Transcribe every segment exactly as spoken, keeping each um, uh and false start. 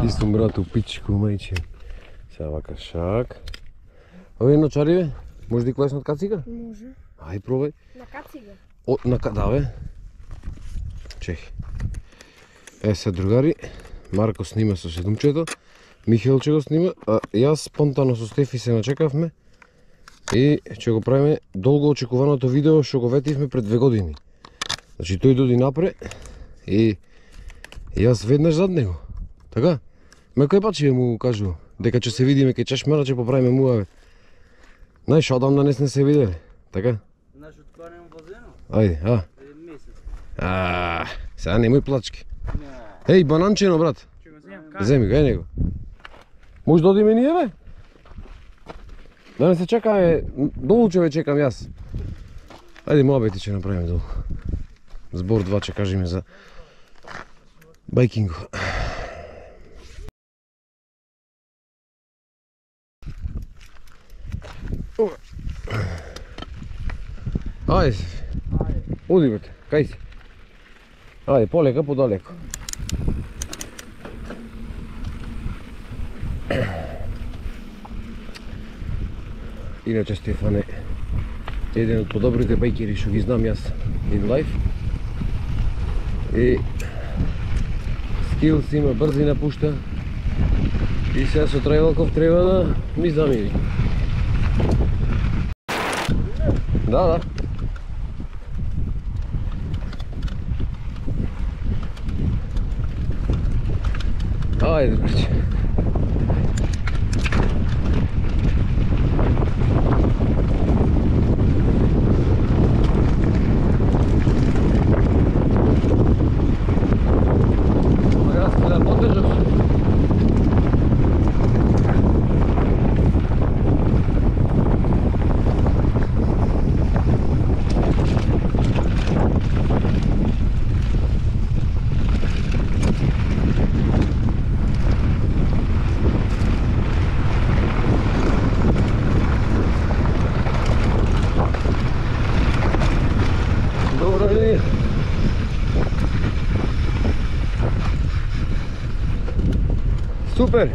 Чистом брат у пичку, мајче. Сега вака шак. Ове едно чариве? Може да клаеш на кацига? Може. Ај, пробај. На кацига? О, на да бе. Чех. Е, се другари, Марко снима со седумчето, Михелче го снима, а јас спонтано со Стефи се начекавме и ќе го правиме долго очекуваното видео што го ветивме пред две години. Значи тој доди напред и јас веднаш зад него. Така? Ме кој пачи му кажу дека ќе се видиме кај чешмера, ќе поправиме муавет. Знаеш, одамна не сме се видели, така? Знаеш од кога немам возено? Ајде, а? Еден месец. А, сега немој плачки. Не. Еј, бананчино, брат. Ќе го земам кај? Земи го, еј него. Може да одиме ние, бе? Да не се чекаме, долу ќе ве чекам јас. Ајде, муабети ќе направиме долу. Збор два ќе кажеме за байкингот. Ајде, оди бе, кај си? Ајде, полека, подалеко. Иначе Стефан е еден од подобрите байкери што ги знам јас in life. И скилс има, брзина пушта. И сега со трајвалков треба да ми замири. Да, да. Ајде, браче. Супер!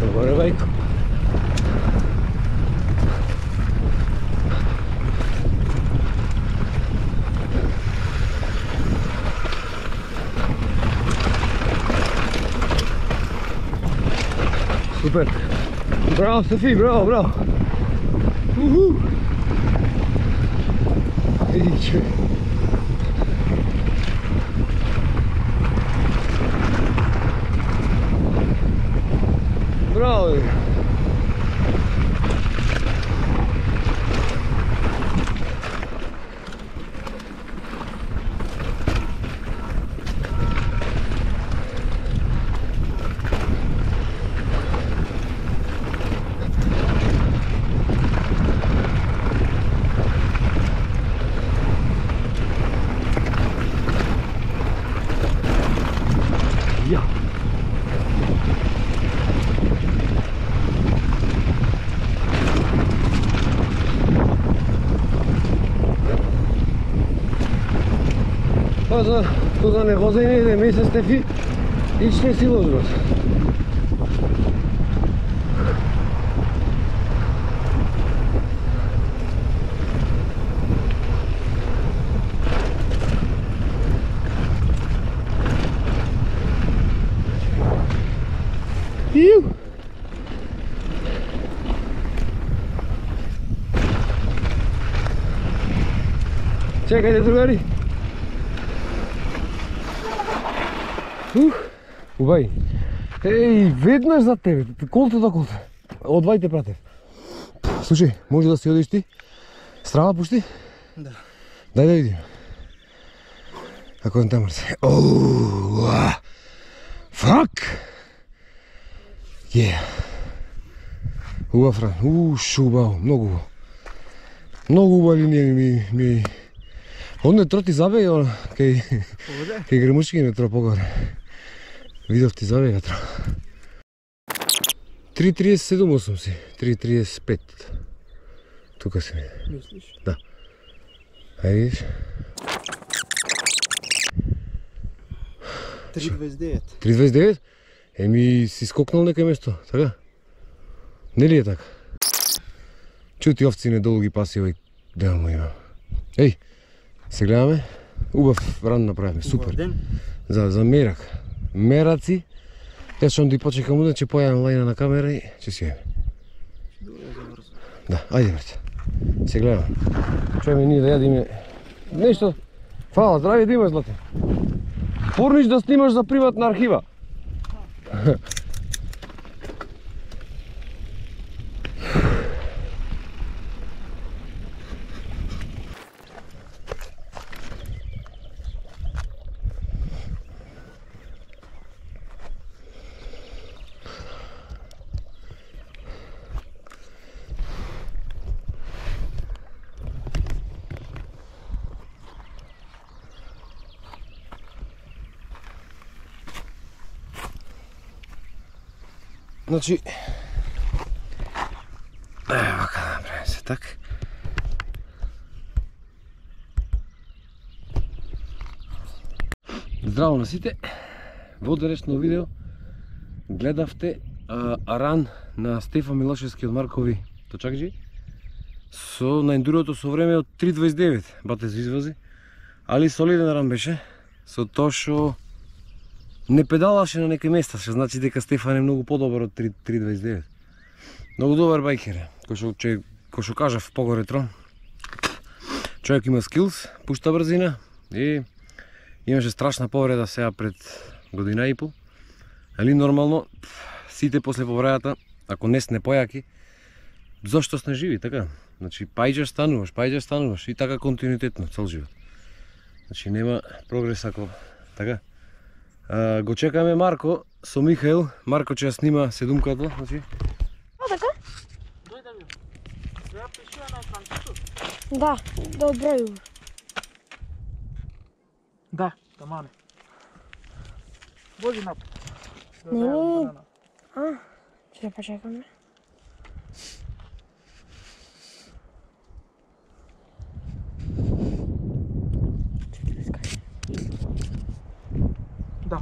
Agora vai. Super. Bravo, Sophie, bravo, bravo. Uhul. Ixi. Bravo. Па за туда не возење иде ми се Стефи и ще си возбат. Иу! Чекајте, другари! Ух, убај. Еј, веднаш за тебе, колте до колте. Одвајте пратев. Слушај, може да си одиш ти? Страва пушти? Да. Дај да видим. Ако не тамар се. Оу, фак! Е. Убав ран, уш, убаво, многу убаво. Многу убава линија ми ми. Одне троти забега, кај кај Гремушки метро погоре. Видов ти забега тро. три тридесет и седум осум си, три тридесет и пет. Тука си ми. Мислиш? Да. Ај видиш? три дваесет и девет. три дваесет и девет? Еми си скокнал некој место, така? Нели е така? Чути овци не долги паси овој дел му има. Еј, се гледаме. Убав ран направивме, супер. Убав ден. За, за мерак. Мераци. Јас што ти почекам уден, ќе појавам лајна на камера и ќе си јаме. Да, ајде брат. Се гледаме. Чуеме ние да јадиме нешто. Фала, здраве да имаш, злате. Порниш да снимаш за приватна архива. Значи, ево вака да направим се така. Здраво на сите, во денешно видео гледавте а, ран на Стефан Милошевски од Маркови Точакџи со на ендурото со време од три дваесет и девет, бате за извози, али солиден ран беше, со тоа што не педалаше на некои места, што значи дека Стефан е многу подобар од три дваесет и девет. Многу добар байкер е, кој што кој што кажав погоре трон. Човек има скилс, пушта брзина и имаше страшна повреда сега пред година и пол. Али нормално сите после повредата, ако не сне појаки, зошто сте живи, така? Значи пајџаш стануваш, пајџаш стануваш и така континуитетно цел живот. Значи нема прогрес ако така. А, го чекаме Марко со Михаил. Марко ќе ја снима седумката, значи. А, така? Дојде ми. Сега пишува на екранчето. Да, добро ју. Да, тамане. Вози напред. Не, не. А, ќе почекаме. Да.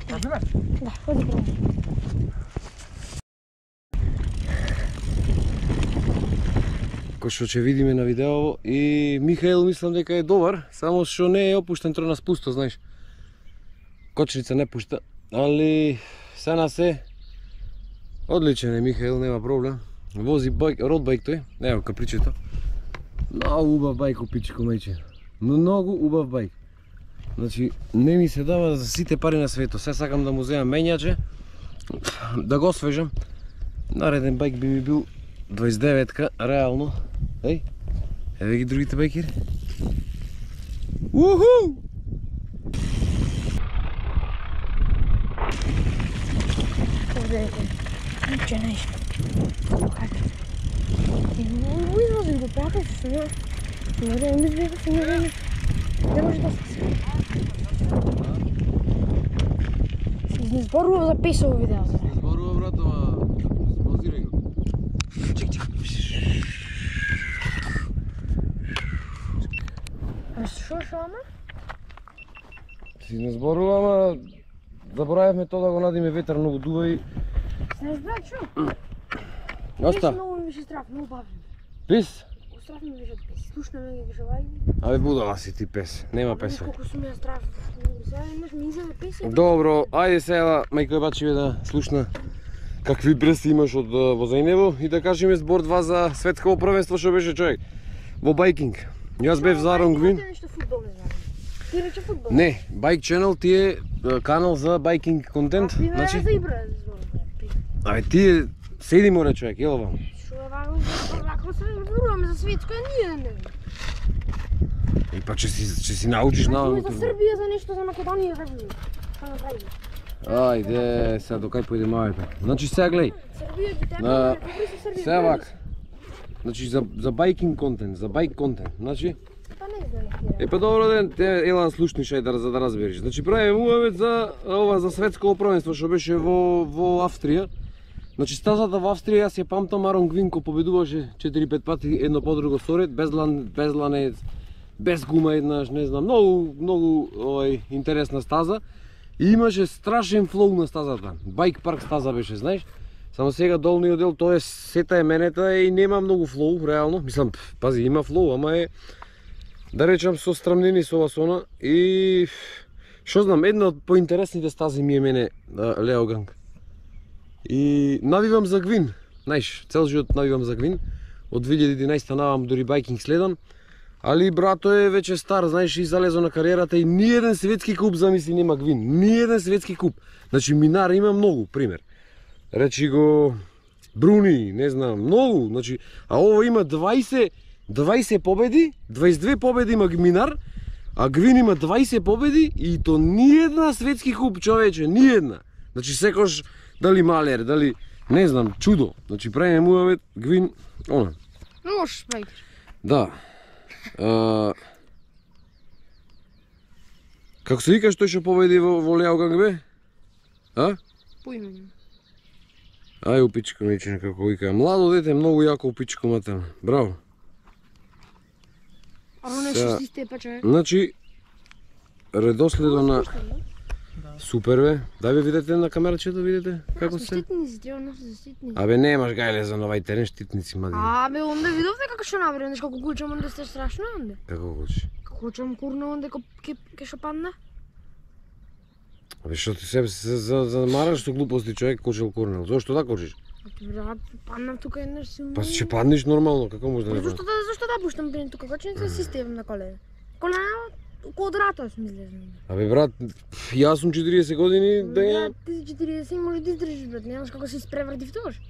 Разбираш? Да, води право. Кој што ќе видиме на видео и Михаил мислам дека е добар, само што не е опуштен тро на спусто, знаеш. Кочница не пушта, али се на се одличен е Михаил, нема проблем. Вози байк, родбайк тој, ево капричето. Многу убав байк опичко мајче. Многу убав байк. Значи, не ми се дава за сите пари на свето. Се сакам да му земам мењаче, да го освежам. Нареден байк би ми бил дваесет и деветка, реално. Еј, еве ги другите байкери. Уху! Поведете. Ниче нешто. Уј, вози го пратиш, не. Не да ми збега се не. Не може да се се изборува за песово видеото. Зборува брат, ама позирај го. Чек, чек. А шо шо ама? Си не зборува, ама заборавивме тоа да го надиме ветар, многу дува и... Се разбра, чу? Оста. Много ми беше страх, много бавно. Пис? Страх ми беше пес. Слушна ме ги кажа, Абе будала си ти пес, нема пес. колку сум ја страх. Сега имаш ми изеде пес. Добро, ајде сега, мајко бачиве да слушна какви брси имаш од возењево и да кажеме збор два за светско првенство што беше човек во байкинг. Јас бев за Ронгвин. Нешто фудбал не знам. Ти рече фудбал. Не, Bike Channel ти е канал за байкинг контент. Значи за игра. Абе ти седи море човек, ело вам. Што е ваго, вако се зборуваме за светско, ние не. И па че си че си научиш на За Србија за нешто, за Македонија за ви. Па направи. Ајде, сега до кај појде мајка. Значи сега глеј. Србија ги тебе, На добри се Србија. сега вака. Значи за за байкинг контент, за байк контент. Значи Па не знам. е па добро ден, те елан слушниш ај да за да разбереш. Значи правиме муавет за ова за светско првенство што беше во во Австрија. Значи стазата во Австрија јас ја памтам, Арон Гвинко победуваше четири-пет пати едно по друго соред, без лан, без ланец, без гума еднаш, не знам, многу многу овај интересна стаза. И имаше страшен флоу на стазата. Байк парк стаза беше, знаеш? Само сега долниот дел тоа е сета е менета и нема многу флоу реално. Мислам, пази, има флоу, ама е да речам со страмнини со ова сона и што знам, една од поинтересните стази ми е мене Леоганг. И навивам за Гвин, знаеш, цел живот навивам за Гвин. Од две илјади и единаесета навам дури байкинг следам. Али брато е веќе стар, знаеш, и залезо на кариерата и ни еден светски куп замисли нема Гвин. Ни еден светски куп. Значи минар има многу, пример. Речи го Бруни, не знам, многу, значи, а ова има дваесет дваесет победи, дваесет две победи има минар, а Гвин има дваесет победи и то ни една светски куп, човече, ни една. Значи секош дали малер, дали не знам, чудо. Значи правиме муавет Гвин, она. Лош байкер. Да. А... Како се викаш тој што победи во, во Леоганг бе? А? Поименно. Ај упичко мече како вика. Младо дете, многу јако упичко матем. Браво. Ало нешто си степа човек. Значи редоследо на супер бе. Дај бе видете на камерачето, видите како се. Штитници, треба нешто за штитници. Абе немаш гајле за новај терен штитници мади. Абе, онде видовте како што набре, нешто како кучам онде сте страшно онде. Како гочи? Како кучам курна онде ке ке што падна. Абе што ти себе се за за мараш со глупости човек кочел курнел. Зошто да кочиш? Брат, паднам тука еднаш силно. Па ќе паднеш нормално, како може да не Зошто да зошто да пуштам пен тука кочница си стевам на колена. Колена квадрато сме излезни. Абе брат, јас сум четириесет години да ја... Брат, ти си четириесет може да издржиш брат, немаш како се испреврти втош.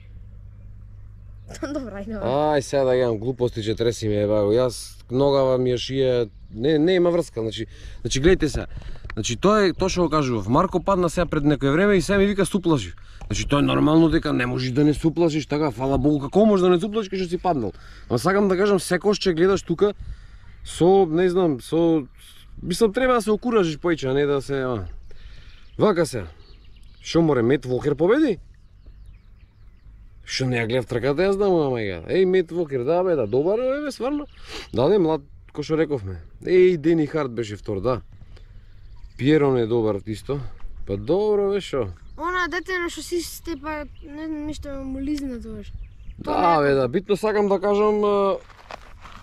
Добра, ајде. Ај сега да јам глупости че треси ме еба, јас ногава ми ја шија, не не има врска, значи значи гледайте се. Значи тоа е тоа што го кажував. Марко падна сега пред некое време и сега ми вика суплаши. Значи тоа е нормално дека не можеш да не суплашиш, така фала Богу, како можеш да не суплашиш кога што си паднал. Ама сакам да кажам секош че гледаш тука со не знам, со мислам треба да се окуражиш поиќе, а не да се а. Вака се. Што море Мет Волкер победи? Што не ја гледав трката, јас знам, ама ја. Еј, Мет Волкер, да бе, да, добар е, бе, сварно. Да, не, млад, кој што рековме. Еј, Дени Харт беше втор, да. Пиерон е добар исто. Па добро, бе, шо? Она дете на што си степа, не знам, нешто му лизна тоаш. Да, бе, да, битно сакам да кажам, а,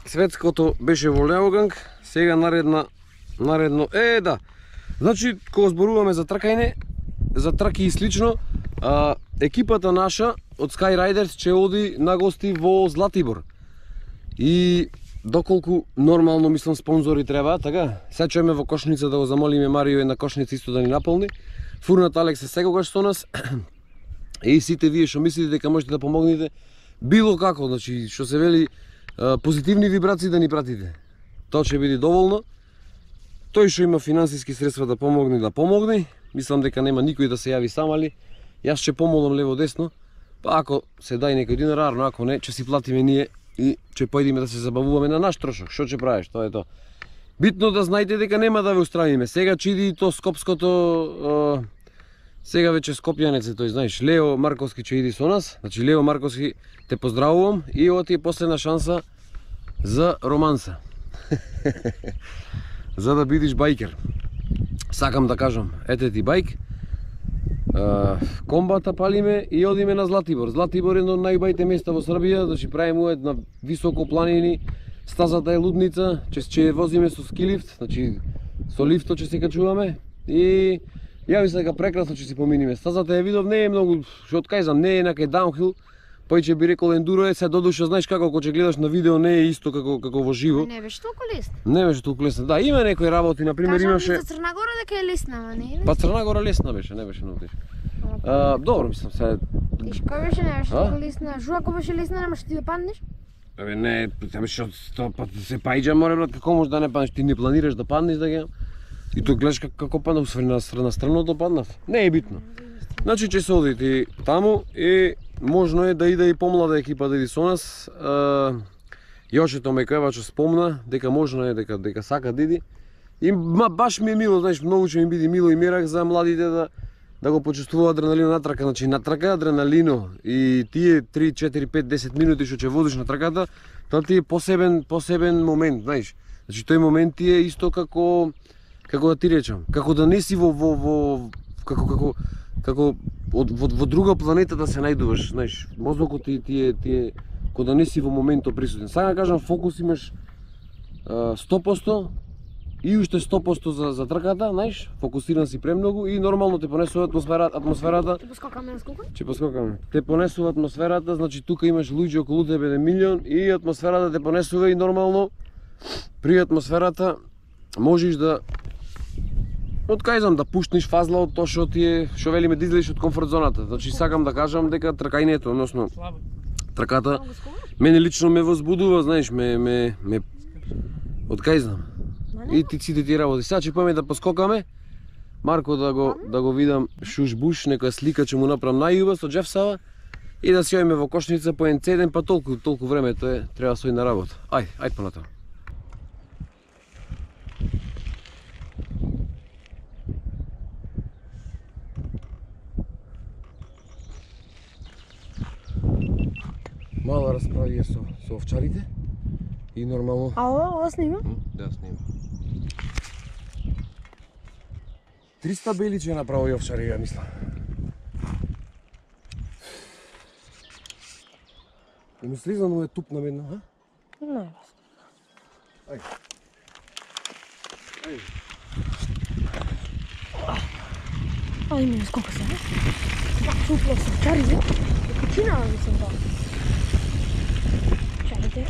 светското беше во Леоганг, сега наредна, наредно, е, да. Значи, кога зборуваме за тркање, за траки и слично, а, екипата наша од Sky Riders ќе оди на гости во Златибор. И доколку нормално мислам спонзори треба, така? Сега чуеме во Кошница да го замолиме Марио и на Кошница исто да ни наполни. Фурнат Алекс е секогаш со нас. И сите вие што мислите дека можете да помогнете, било како, значи што се вели позитивни вибрации да ни пратите. Тоа ќе биде доволно. Тој што има финансиски средства да помогне, да помогне. Мислам дека нема никој да се јави сам, али јас ќе помолам лево десно. Па ако се дај некој динар, рарно, ако не, ќе си платиме ние и ќе појдеме да се забавуваме на наш трошок. Што ќе правиш? Тоа е тоа. Битно да знаете дека нема да ве устравиме. Сега чиди то скопското сега веќе скопјанец е тој, знаеш, Лео Марковски ќе иди со нас. Значи Лео Марковски те поздравувам и ова ти е последна шанса за романса. За да бидиш байкер. сакам да кажам, ете ти бајк, комбата палиме и одиме на Златибор. Златибор е едно од најубавите места во Србија, значи правиме уед на високо планини, стазата е лудница, че ќе возиме со скилифт, значи со лифто ќе се качуваме и јави се дека прекрасно ќе си поминиме. Стазата ја видов, не е многу, што откајзам, не е некај даунхил, појче би рекол ендуро е, се додуша, знаеш како кога ќе гледаш на видео не е исто како како во живо. Не беше толку лесно. Не беше толку лесно. Да, има некои работи, на пример имаше. Кажам за Црна Гора дека е лесна, ама не е. Па Црна Гора лесна беше, не беше многу тешко. А, добро, мислам се. Тешко беше, не беше толку лесна. Жу ако беше лесна, немаше ти да паднеш? Абе не, тоа беше од сто пати се паиџа, море брат, како можеш да не паднеш, ти не планираш да паднеш да ги. И тоа гледаш како падна, усвари на страна страното паднав. Не е битно. Значи ќе се одите таму и можно е да иде и помлада екипа да иде со нас. Јошето Мекоевачо спомна дека можно е дека дека сака да иде. И ма баш ми е мило, знаеш, многу ќе ми биде мило и мерак за младите да да го почувствува адреналино на трака, значи на трака адреналино и тие три, четири, пет, десет минути што ќе возиш на траката, тоа ти е посебен посебен момент, знаеш. Значи тој момент ти е исто како како да ти речам, како да не си во во во како како како од во, во друга планета да се најдуваш, знаеш. Мозокот ти ти е ти е како да не си во моментот присутен. Сега да кажам, фокус имаш сто проценти и уште сто проценти за за трката, знаеш, фокусиран си премногу и нормално те понесува атмосферата, атмосферата. Ќе поскокаме на скока? Ќе поскокаме. Те понесува атмосферата, значи тука имаш луѓе околу тебе еден милион и атмосферата те понесува и нормално при атмосферата можеш да откајзам да пуштнеш фазла од тоа што ти е, што велиме да излезеш од комфорт зоната. Значи сакам да кажам дека тркањето, односно трката мене лично ме возбудува, знаеш, ме ме ме откајзам. И ти сите ти работи. Сега ќе поеме да поскокаме. Марко да го да го видам шуш-буш, некоја слика ќе му направам најуба со Джефсава и да си ојме во кошница по еден цеден, па толку толку времето е, треба сој на работа. Ај, ај понатаму. Мала расправија со со овчарите и нормално. А ова, ова снима? Да, снима. триста бели ќе направо и овчари, ја мислам. И ми слизано е туп на медно, а? Не, Ај. Ај. Ај, ми скока се, а? Да, чупло се, чари, не? Кучина, мислам, да. Чарите.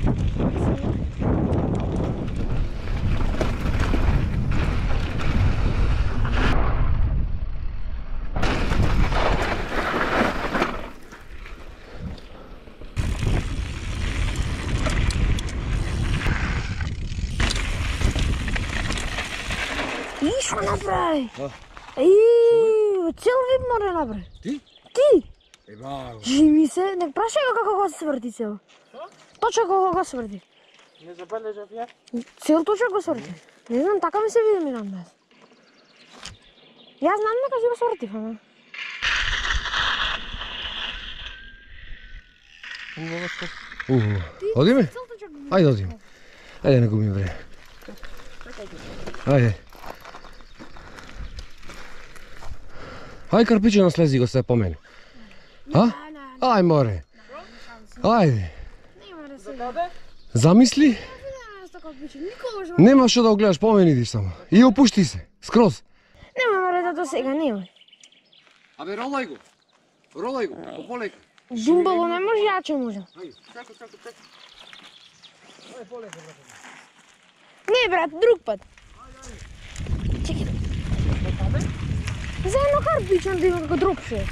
И што направи? И цел вид море направи. Ти? Ти? Еба. Жими се, не прашај го како го сврти цел. Точно како го сврти. Не забележав ја. Цел точно го сврти. Не знам, така ми се види ми нам. Јас знам дека си го свртив, ама. Одиме? Ајде одиме. Ајде не губим време. Ајде. Ај карпиче слези го се по мене. А? Ај море. Ајде. Замисли? Нема што да го гледаш, по мене идиш само. И опушти се, скроз. Нема море да до сега, нема. Абе ролај го. Ролај го, пополека. Думбало не може, јаче може. Чекај, чекај, чекај. Ај, полека, брат. Не, брат, друг пат. Чекай. За едно карпиче да има како дропше.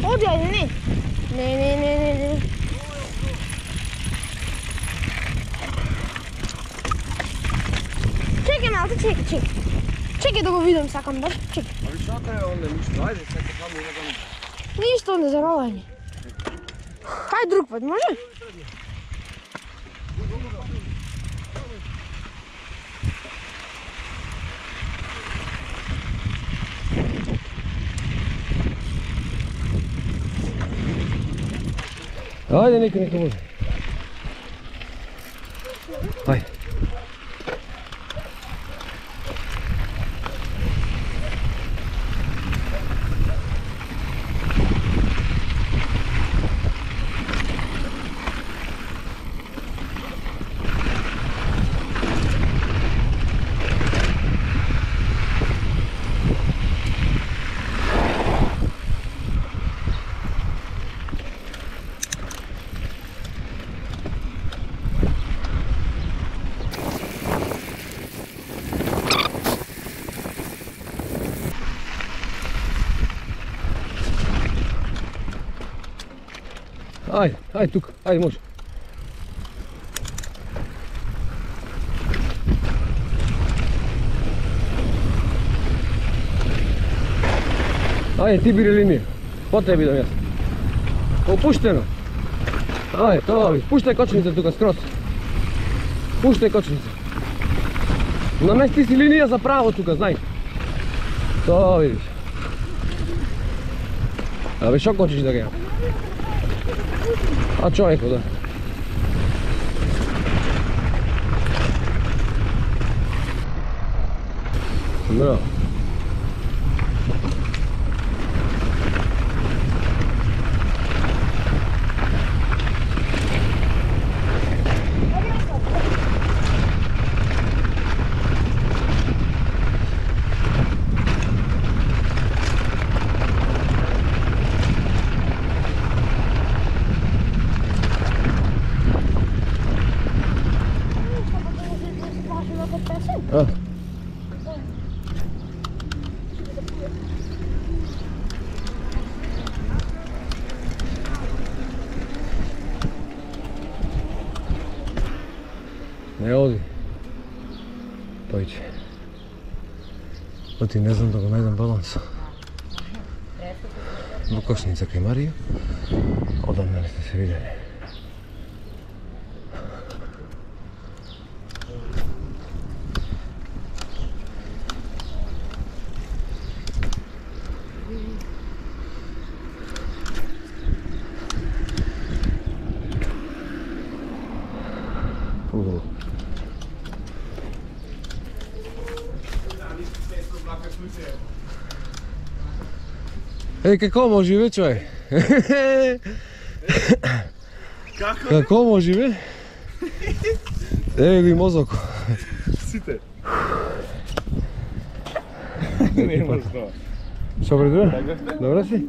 Оди, ајде, не. Не, не, не, не, не. Чекай малце, чекай, чекай. Чекай да го видам, сакам баш, чекай. Аби што треба онде ништо, ајде, сега само има да ми. Ништо не заролање. Хај друг пат, може? Ајде, нека, нека може. Ајде. Ајде, ајде тука, ајде може. Ајде, ти бири линија. По тебе идам јас. Опуштено. Ајде, тоа ви. Пуштај кочница тука скроз. Пуштај кочница. Намести си линија за право тука, знај. Тоа видиш. Абе, шо кочиш да геја? А човеко, да. Браво. А. Не оди. Тојче. Оти не знам да го најдам баланс. Во кошница кај Марија. Одамна не сте се видели. Угу. Е, како може бе, човек? Како? Како може бе? Еве го и мозоко. Сите. Не може тоа. Што бре, Така сте? добре си?